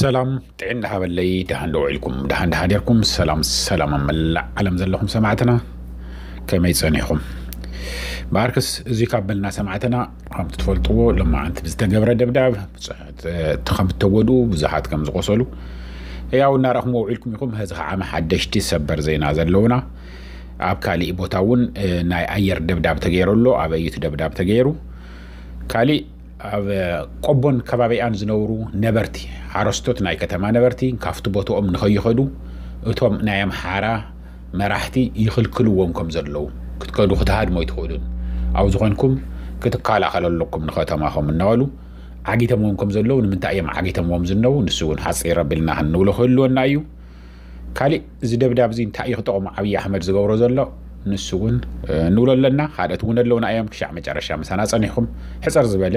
ሰላም ጥዕና ሃበለይ፣ ደሃን ዶ ውዒልኩም፣ ደሃን ዶ ሓዲርኩም? ሰላም ሰላም ኣብ መላእ ዓለም ዘለኹም ሰማዕትና፣ ከመይ ጸኒሕኩም? ብኣርክስ እዚ ካብ በልና ሰማዕትና፣ ከምቲ ትፈልጥዎ፣ ሎማዓንቲ ብዝተገብረ ደብዳብ ብዙሓት፣ እ፣ ከም እተጎድኡ፣ ብዙሓት ከም ዝቆሰሉ፣ ያው እናረእኹምዎ ውዒልኩም ኢኹም። ሕዚ ከዓ ሓደሽቲ ሰበር ዜና ዘለውና፣ ኣብ ካሊእ ቦታ እውን፣ እ፣ ናይ ኣየር ደብዳብ ተገይሩ ኣሎ። ኣበይ እዩ እቲ ደብዳብ ተገይሩ? ካሊእ ኣብ ቆቦን ከባቢኣን ዝነብሩ ነበርቲ፣ ሓረስቶት ናይ ከተማ ነበርቲ ካብቲ ቦታኦም ንኸይኸዱ እቶም ናይ ኣምሓራ መራሕቲ ይኽልክልዎም ከም ዘለዉ፣ ክትከዱ ክትሃድሙ ኣይትኽእሉን፣ ኣብኡ ዝኾንኩም ክትከላኸሉ ኣለኩም ንከተማኹም እናበሉ ዓጊቶምዎም ከም ዘለዉ፣ ንምንታይ እዮም ዓጊቶምዎም ዝነዉ? ንሱ እውን ሓፂር ኣቢልና ክንብሎ ክህልወና እዩ። ካሊእ እዚ ደብዳብ እዚ እንታይ እዩ ክጠቕሞ ዓብዪ ኣሕመድ ዝገብሮ ዘሎ? ንሱ እውን፣ እ፣ ንብሎ ኣለና። ካልኦት እውን ኣለውና እዮም። ክሻዕ መጨረሻ ምሳና ጸኒሕኩም ሕጽር ዝበለ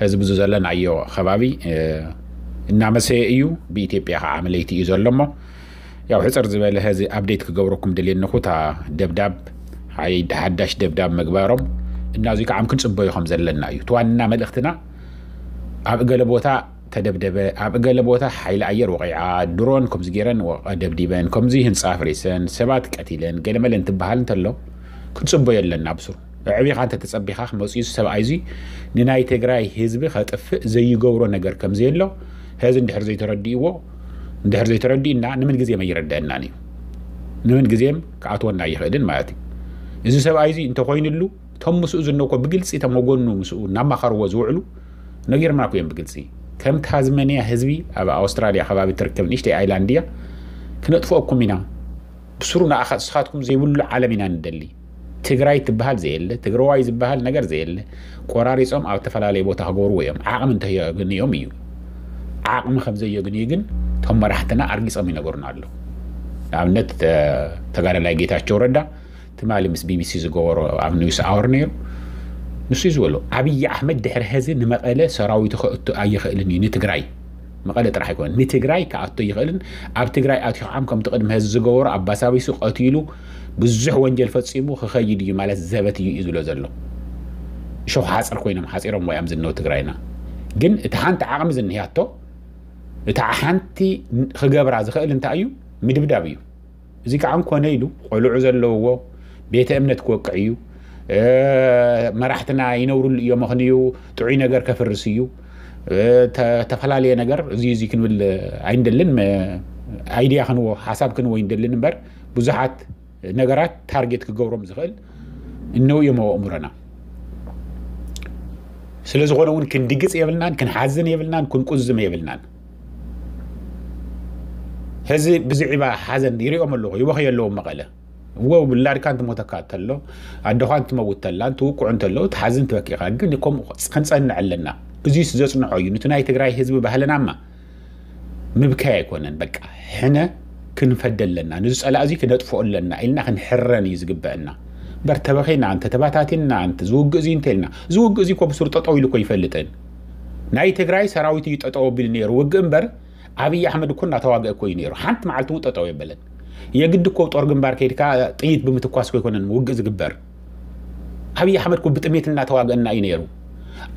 ህዝቢ እዚ ዘለናዮ ከባቢ፣ እ፣ እናመሰየ እዩ። ብኢትዮጵያ ከዓ ለይቲ እዩ ዘሎ እሞ ያው ሕጽር ዝበለ ህዚ ኣፕዴት ክገብረኩም ደልየኒ እኹ እታ ደብዳብ ሓይ-፣ ሓዳሽ ደብዳብ ምግባሮም እና እዚ ከዓ ክንጽበዮ ከም ዘለና እዩ። እቲ ዋና መልእኽትና ኣብ ገለ ቦታ ተደብደበ፣ ኣብ ገለ ቦታ ሓይሊ ኣየር ወቒዓ፣ ድሮን ከምዚ ገይረን ወ-፣ ደብዲበን፣ ከምዚ ህንጻ ኣፍሪሰን፣ ሰባት ቀቲለን፣ ገለመለ እንትበሃል እንተሎ፣ ክንጽበዮ ኣለና ብስሩ። ኣዕቢኻ እንተተጸቢኻ ክመጽኡ እዚ ሰብኣይ እዚ ንናይ ትግራይ ህዝቢ ከጥፍእ ዘይገብሮ ነገር ከም ዘየሎ፣ ሕዚ እንድሕር ዘይተረዲእዎ፣ እንድሕር ዘይተረዲእና፣ ንምን ግዜም ኣይረድአናን እዩ። ንምን ግዜም ክኣትወና ኣይኽእልን ማለት እዩ። እዚ ሰብኣይ እዚ እንተኾይንሉ፣ እቶም ምስኡ ዝነኮ ብግልጺ እቶም ወገኑ ምስኡ እናማኸርዎ ዝውዕሉ ነጊርናኩ እዮም ብግልጺ። ከም ታዝመንያ ህዝቢ ኣብ ኣውስትራልያ ከባቢ ትርከብ ንእሽተይ ኣይላንድ እያ፣ ክነጥፍኦኩም ኢና። ብስሩ ንኣኻ ንስኻትኩም ዘይብሉ ዓለም ኢና ንደሊ። ትግራይ ትበሃል ዘየለ፣ ትግራዋይ ዝበሃል ነገር ዘየለ፣ ቆራሪጾም ኣብ ዝተፈላለየ ቦታ ክገብርዎ እዮም። ዓቕሚ እንተየግንዮም እዩ። ዓቕሚ ከም ዘየግንዩ ግን እቶም መራሕትና ኣርጊጾም ይነገሩና ኣለዉ። ንኣብነት፣ ተ-፣ ተጋዳላይ ጌታቸው ረዳ ትማሊ ምስ ቢቢሲ ዝገበሮ ኣብ ኒውስ ኣወር ነይሩ። ንሱ እዩ ዝበሎ፣ ኣብይ ኣሕመድ ድሕሪ ሕዚ ንመቐለ ሰራዊቱ ከእቱ ኣይኽእልን እዩ፣ ንትግራይ፣ መቐለ ጥራሕ ኣይኮነን፣ ንትግራይ ክኣቱ ኣይኽእልን። ኣብ ትግራይ ኣትዩ ከዓ ከምቲ ቅድሚ ሕዚ ዝገበሮ ኣባሳቢሱ ቀቲሉ ብዙሕ ወንጀል ፈፂሙ ክኸይድ እዩ ማለት ዘበት እዩ እዩ ዝብሎ ዘሎ። እሾኽ ሓፀር ኮይኖም ሓፂሮም ወያም ዝነው ትግራይና። ግን እቲ ሓንቲ ዓቕሚ ዝንህያቶ፣ እታ ሓንቲ ክገብራ ዝኽእል እንታይ እዩ? ምድብዳብ እዩ። እዚ ከዓ እንኮነ ኢሉ ቆልዑ ዘለውዎ ቤተ እምነት ክወቅዕ እዩ። እ፣ መራሕትና ይነብሩሉ እዮም፣ ምኽንዩ ጥዑይ ነገር ከፍርስ እዩ። እ፣ ተ-፣ ተፈላለየ ነገር እዚ፣ እዚ ክንብል ኣይንደልን። መ-፣ ኣይድያ ክንዎ፣ ሓሳብ ክንዎ ኣይንደልን እምበር ብዙሓት ነገራት ታርጌት ክገብሮም ዝኽእል እነው እዮም ኣብ ኣእምሮና። ስለ ዝኾነ እውን ክንድግጽ የብልናን፣ ክንሓዝን የብልናን፣ ክንቁዝም የብልናን። ሕዚ ብዝዒባ ሓዘን ይሪኦም ኣለኹ፣ ይበኽዩ ኣለዉ መቐለ። እዎ ውላድካ እንትሞተካ እንተሎ፣ ኣደኻ እንትመውት ተላ፣ እንትውቅዑ እንተሎ፣ ትሓዝን ትበኪ ኢኻ። ግን ከምኡ ክንጸንዕ ኣለና። እዚስ ዘጽንዖ እዩ። ነቲ ናይ ትግራይ ህዝቢ ባህልናማ ምብካይ ኣይኮነን። በቃ ሕነ ክንፈደ ኣለና። ነዚ ጸላእ እዚ ክነጥፍኦ ኣለና ኢልና ክንሕረን እዩ ዝግበአና። እምበር ተበኺና፣ እንተ ተባታቲንና፣ እንተ ዝውግእ እዚ እንተ ኢልና፣ ዝውግእ እዚ እኮ ብሱር ጠጠው ኢሉ እኮ ይፈልጥን። ናይ ትግራይ ሰራዊት እዩ ጠጠው ኣቢሉ ነይሩ ውግእ እምበር፣ ኣብይ ኣሕመድ እኮ እናተዋግአ እኮ እዩ ነይሩ። ሓንቲ መዓልቲ እውን ጠጠው የበለን። የግድ እኮ ጦር ግንባር ከይድካ ጥይት ብምትኳስ እኮ ኣይኮነን ውግእ ዝግበር። ኣብይ ኣሕመድ እኮ ብጥሜት እናተዋግአና እዩ ነይሩ።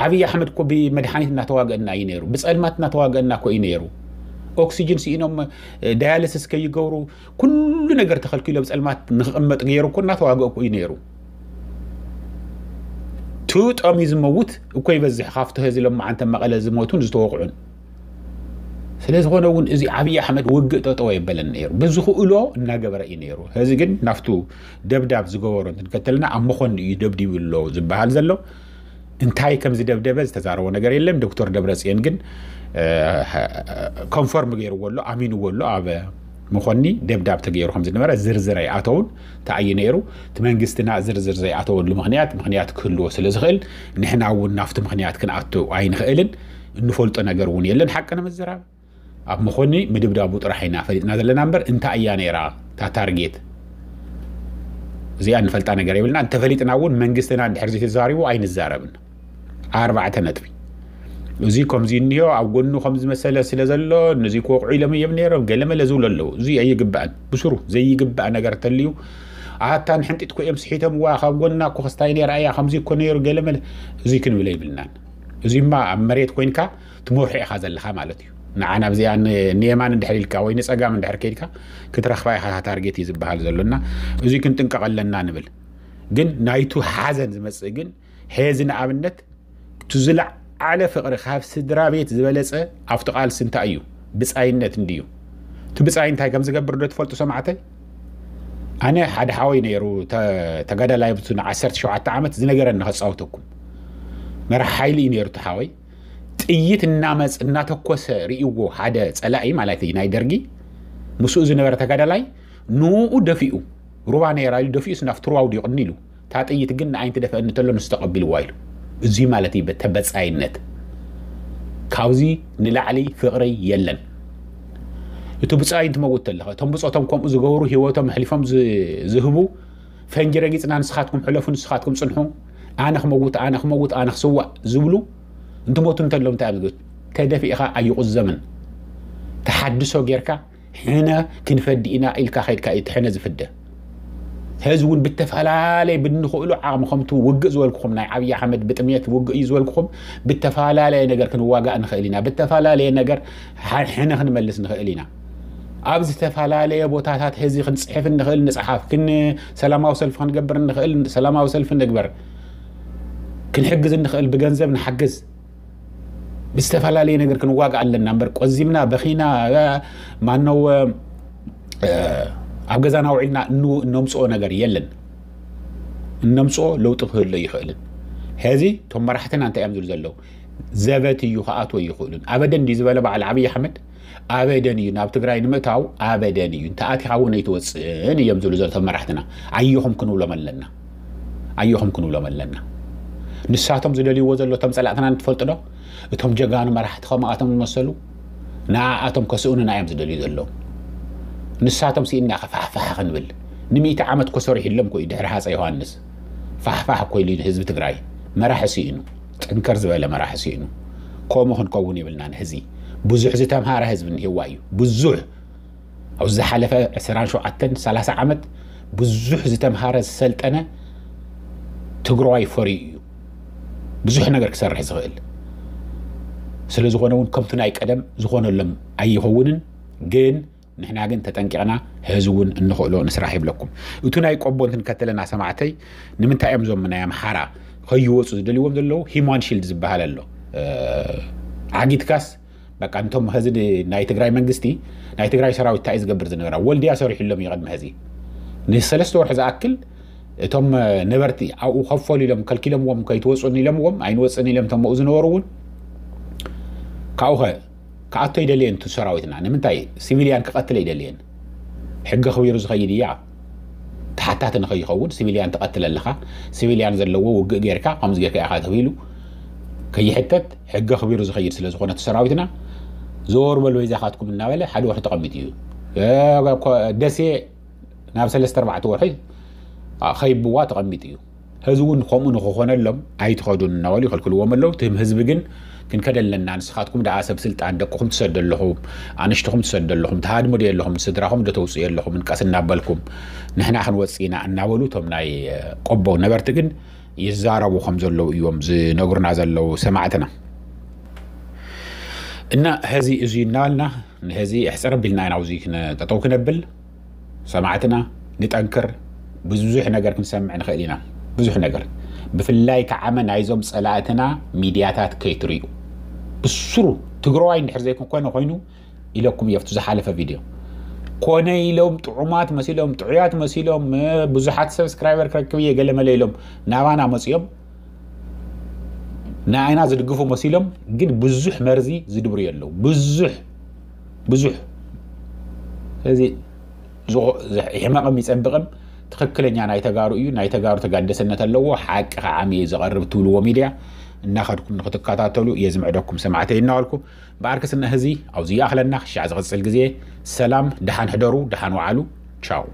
ኣብይ ኣሕመድ እኮ ብመድሓኒት እናተዋግአና እዩ ነይሩ። ብጸልማት እናተዋግአና እኮ እዩ ነይሩ። ኦክሲጅን ስኢኖም፣ እ፣ ዳያሊሲስ ከይገብሩ ኩሉ ነገር ተኸልኪሎ ብጸልማት ንኽቕመጥ ገይሩ እኮ እናተዋግአ እኮ እዩ ነይሩ። ትውጦም እዩ ዝመውት እኮ ይበዝሕ ካብቲ ህዚ ሎማዓንቲ መቐለ ዝሞቱን ዝተወቕዑን። ስለ ዝኾነ እውን እዚ ኣብይ ኣሕመድ ውግእ ጠጠው የበለን ነይሩ። ብዝኽእሎ እናገበረ እዩ ነይሩ። ህዚ ግን ናፍቱ ደብዳብ ዝገበሮ እንትንከተልና ኣብ መኾኒ እዩ ደብዲቡ ኣሎ ዝበሃል ዘሎ። እንታይ ከም ዝደብደበ ዝተዛረቦ ነገር የለን። ዶክተር ደብረጽዮን ግን፣ እ፣ ኮንፈርም ገይርዎ ኣሎ፣ ኣሚንዎ ኣሎ። ኣብ መኾኒ ደብዳብ ተገይሩ ከም ዝነበረ ዝርዝር ኣይኣተውን። እንታይ እዩ ነይሩ? እቲ መንግስትና ዝርዝር ዘይኣተወሉ ምኽንያት፣ ምኽንያት ክህልዎ ስለ ዝኽእል፣ ንሕና እውን ናብቲ ምኽንያት ክንኣቱ ኣይንኽእልን። እንፈልጦ ነገር እውን የለን። ሓቂ ንምዝራብ ኣብ መኾኒ ምድብዳቡ ጥራሕ ኢና ፈሊጥና ዘለና እምበር፣ እንታይ እያ ነይራ እታ ታርጌት? እዚኣ እንፈልጣ ነገር የብልና። እንተፈሊጥና እውን መንግስትና እንድሕር ዘይተዛሪቡ ኣይንዛረብን። ኣርባዕተ ነጥቢ። እዚ ከምዚ እኒሆ፣ ኣብ ጎኑ ከምዚ መሰለ ስለ ዘሎ፣ ነዚ ክወቕዑ ኢሎም እዮም ነይሮም፣ ገለመለ ዝብሉ ኣለዉ። እዚ ኣይግባእን። ብስሩ ዘይግባእ ነገር ተልዩ፣ ኣታ ንሕንጢጥ እኮ እዮም ስሒቶምዋ፣ ካብ ጎና እኮ ክስታይ ነይራ እያ፣ ከምዚ እኮ ነይሩ፣ ገለመለ። እዚ ክንብል ኣይብልናን። እዚማ ኣብ መሬት ኮይንካ ትመርሖ ኢኻ ዘለኻ ማለት እዩ። ንዓ ናብዚኣ ን- ንየማን እንድሕር ኢልካ ወይ ንጸጋም እንድሕር ከይድካ ክትረኽባ ኢኻ ታርጌት እዩ ዝበሃል ዘሎና። እዚ ክንጥንቀቕ ኣለና ንብል። ግን ናይቱ ሓዘን ዝመጽእ ግን ሕዚ ንኣብነት እቲ ዝለዓለ ፍቕሪ ካብ ስድራ ቤት ዝበለጸ ኣብቲ ቃልሲ እንታይ እዩ? ብጻይነት እንድዩ። እቲ ብጻይ እንታይ ከም ዝገብር ዶ ትፈልጡ ሰማዕተይ? ኣነ ሓደ ሓወይ ነይሩ ተ- ተጋዳላይ ኣብቲ ን ዓሰርተ ሸውዓተ ዓመት ዝነገረኒ ከጻውተኩም። መራሕ ሓይሊ እዩ ነይሩ እቲ ሓወይ። ጥይት እናመጽ እናተኮሰ ርእይዎ ሓደ ጸላኢ ማለት እዩ ናይ ደርጊ ምስኡ ዝነበረ ተጋዳላይ ንኡ ደፊኡ ሩባ ነይራ ኢሉ ደፊኡ ስናፍ ትርዋው ድዩ ቅኒ ኢሉ እታ ጥይት ግን ንዓይንቲ ደፈእኒ ተሎ ንሱ ተቐቢልዋ ኢሉ። እዚ ማለት እዩ ተበጻይነት። ካብዚ ንላዕሊ ፍቕሪ የለን። እቲ ብጻይ እንትመውት ተለኸ እቶም ብጾቶም ከምኡ ዝገብሩ ህይወቶም ኣሕሊፎም ዝ- ዝህቡ ፈንጂ ረጊጽና ንስኻትኩም ሕለፉ ንስኻትኩም ጽንሑ ኣነ ክመውት ኣነ ክመውት ኣነ ክስዋእ ዝብሉ እንትሞቱ እንተሎም እንታይ እዮም ዝብል? ተደፊእኻ ኣይቑዘምን። ተሓድሶ ጌርካ ሕነ ክንፈዲ ኢና ኢልካ ከይድካ እዩ እቲ ሕነ ዝፍደ። ሕዚ እውን ብተፈላለየ ብንኽእሉ ዓቕሚ ከምቲ ውግእ ዝበልኩኹም ናይ ዓብዪ ኣሕመድ ብጥሜት ውግእ እዩ ዝበልኩኹም ብተፈላለየ ነገር ክንዋጋእ ንኽእል ኢና። ብተፈላለየ ነገር ሓ- ሕነ ክንመልስ ንኽእል ኢና። ኣብ ዝተፈላለየ ቦታታት ሕዚ ክንፅሕፍ እንኽእል ንፅሓፍ፣ ክን ሰላማዊ ሰልፊ ክንገብር እንኽእል ሰላማዊ ሰልፊ ንግበር፣ ክንሕግዝ እንኽእል ብገንዘብ ንሓግዝ። ብዝተፈላለየ ነገር ክንዋጋእ ኣለና እምበር ቆዚምና በኺና ማነው ኣብ ገዛና ውዒልና እነምፅኦ ነገር የለን። እነምፅኦ ለውጢ ክህሎ ይኽእልን። ሕዚ እቶም መራሕትና እንታይ እዮም ዝብሉ ዘለዉ? ዘበት እዩ ክኣትዎ ይኽእሉን። ኣበደን ድዩ ዝበለ በዓል ዓብዪ ኣሕመድ? ኣበደን እዩ ናብ ትግራይ ንምእታው ኣበደን እዩ። እንተኣቲኻ እውን ኣይትወፅእን እዮም ዝብሉ ዘለቶም መራሕትና። ኣየኹም ክንብሎም ኣለና። ኣየኹም ክንብሎም ኣለና። ንሳቶም ዝደልይዎ ዘሎ እቶም ፀላእትና ንትፈልጡ ዶ? እቶም ጀጋኑ መራሕቲ ከምኣቶም ዝመሰሉ ንኣኣቶም ከስእኑና እዮም ዝደልዩ ዘለዉ። ንሳቶም ስኢንና ከፋሕፋሕ ክንብል ንሚእቲ ዓመት ኮ ሰሪሕሎም ኮ እዩ ድሕሪ ሃፀ ዮሃንስ ፋሕፋሕ እኮ ኢሉ ህዝቢ ትግራይ መራሒ ስኢኑ። ጥንክር ዝበለ መራሒ ስኢኑ። ከምኡ ክንከውን የብልናን። ሕዚ ብዙሕ ዝተምሃረ ህዝቢ እኒህዋ እዩ። ብዙሕ ኣብ ዝሓለፈ ዕስራን ሸውዓተን ሰላሳ ዓመት ብዙሕ ዝተምሃረ ዝሰልጠነ ትግራዋይ ፈርዩ እዩ ብዙሕ ነገር ክሰርሕ ዝኽእል። ስለ ዝኾነ እውን ከምቲ ናይ ቀደም ዝኾነሎም ኣይኸውንን። ግን ንሕና ግን ተጠንቂቕና ሕዚ እውን እንኽእሎ ንስራሕ ይብለኩም። እቱ ናይ ቆቦ እንትንከተለና ሰማዕተይ ንምንታይ እዮም ዞም ናይ ኣምሓራ ከይወፁ ዝደልይዎም ዘለዉ? ሂማን ሺልድ ዝበሃል ኣሎ። ዓጊትካስ በቃ እንቶም ሕዚ ናይ ትግራይ መንግስቲ ናይ ትግራይ ሰራዊት እንታይ ዝገብር ዝነበራ ወልድያ ሰሪሕሎም እዩ ቅድሚ ሕዚ ንሰለስተ ወርሒ ዝኣክል እቶም ነበርቲ ኣብኡ ከፈሉ ኢሎም ከልኪሎምዎም ከይትወፁን ኢሎምዎም ኣይንወፅን ኢሎም እቶም ኣብኡ ዝነበሩ እውን ካብኡ ከ ክኣቶ ይደልየን እቲ ሰራዊትና ንምንታይ ሲቪልያን ክቐትለ ይደልየን? ሕጊ ኣኽቢሩ ዝኸይድ እያ። ተሓታቲ ንኸይኸውን ሲቪልያን ትቐትል ኣለኻ። ሲቪልያን ዘለዎ ውግእ ጌርካ ከምዚ ጌርካ ኢኻ ተባሂሉ ከይሕተት ሕጊ ኣኽቢሩ ዝኸይድ ስለ ዝኾነ እቲ ሰራዊትና ዘወር በሉ በይዛኻትኩም እናበለ ሓደ ወርሒ ተቐሚጡ እዩ። ደሴ ናብ ሰለስተ ኣርባዕተ ወርሒ ከይብዋ ተቐሚጡ እዩ። ሕዚ እውን ከምኡ ንክኾነሎም ኣይትኸዱን እናበሉ ይኸልክልዎም ኣለዉ። ትም ህዝቢ ግን ክንከደ ኣለና። ንስኻትኩም ደኣ ሰብ ስልጣን ደቅኹም ትሰዱ ኣለኹም፣ ኣንሽትኹም ትሰዱ ኣለኹም፣ ትሃድሙ ዶ ኣለኹም፣ ስድራኹም ዶ ተውፅኡ ኣለኹም፣ እንቀስ እናበልኩም ንሕና ክንወፅእ ኢና እናበሉ እቶም ናይ ቆቦ ነበርቲ ግን ይዛረቡ ከም ዘለዉ እዮም ዝነግሩና ዘለዉ ሰማዕትና። እና ሕዚ እዚ እናበልና ንሕዚ እሕፅር ኣቢልና ኢና ኣብዚ ጠጠው ክነብል ሰማዕትና ንጠንክር። ብዙሕ ነገር ክንሰምዕ ንኽእል ኢና። ብዙሕ ነገር ብፍላይ ከዓመ ናይዞም ፀላእትና ሚድያታት ከይትርእዩ ብስሩ ትግራዋይ እንድሕር ዘይኮነ ኮይኑ ኢለኩም እየ ኣብቲ ዝሓለፈ ቪድዮ ኮነ ኢሎም ጥዑማት መሲሎም ጥዑያት መሲሎም ብዙሓት ሰብስክራይበር ክረክብ እየ ገለመለ ኢሎም ናባና መፅኦም ንኣይና ዝድግፉ መሲሎም ግን ብዙሕ መርዚ ዝድብሩ የለው ብዙሕ ብዙሕ ስለዚ ሕመቕም ይፀብቕም ትኽክለኛ ናይ ተጋሩ እዩ። ናይ ተጋሩ ተጋደሰነት ኣለዎ። ሓቂ ከዓሚ እዩ ዝቐርብ ትብልዎ ሚድያ እናኸድኩም ንክትከታተሉ እየ ዝምዕደኩም ሰማዕተይ እናበልኩ ብኣርክስና ህዚ ኣብዚ ይኣኽለና። ክሻዕ ዝቕፅል ግዜ ሰላም፣ ደሓን ሕደሩ፣ ደሓን ወዓሉ። ቻው።